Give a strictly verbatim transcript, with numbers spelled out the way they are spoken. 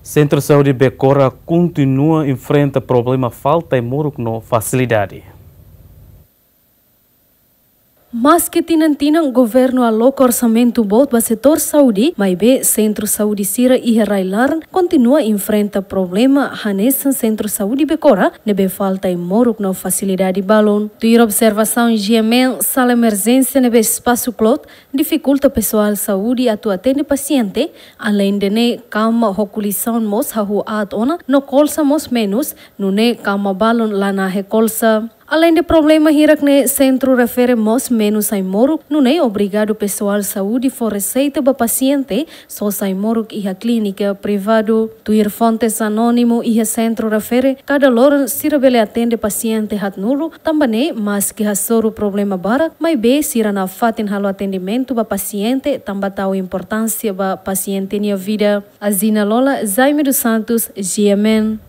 Sentru Saúde Becora kontinua enfrenta problema falta ai-moruk no fasilidade. Maski tinan-tinan governu aloka orsamentu boot ba setór saúde, maibé sentru saúde sira iha rai-laran kontinua enfrenta problema hanesan Sentru Saúde Becora ne'ebé falta ai-moruk no fasilidade balun. Tuir observasaun G M N, sala emerjénsia ne'ebé espasu kloot difikulta pesoál saúde atu atende pasiente, aleinde ne'e kama ho kulisaun mós hahú aat ona no kolsa mós menus, nune'e kama balun la nahe kolsa. Aleinde problema hirak-ne'e, sentru refere mós menus ai-moruk, nune'e obrigadu pesoál saúde fó reseita ba pasiente sosa ai-moruk iha klínika privadu. Tuir fontes anónimu iha sentru refere, kada loron sira bele atende pasiente haatnulu, tanba ne'e maski hasoru problema barak, maibé sira nafatin halo atendimentu ba pasiente tanba tau importánsia ba pasiente nia vida. Azina Lola, Jaime dos Santos, G M N.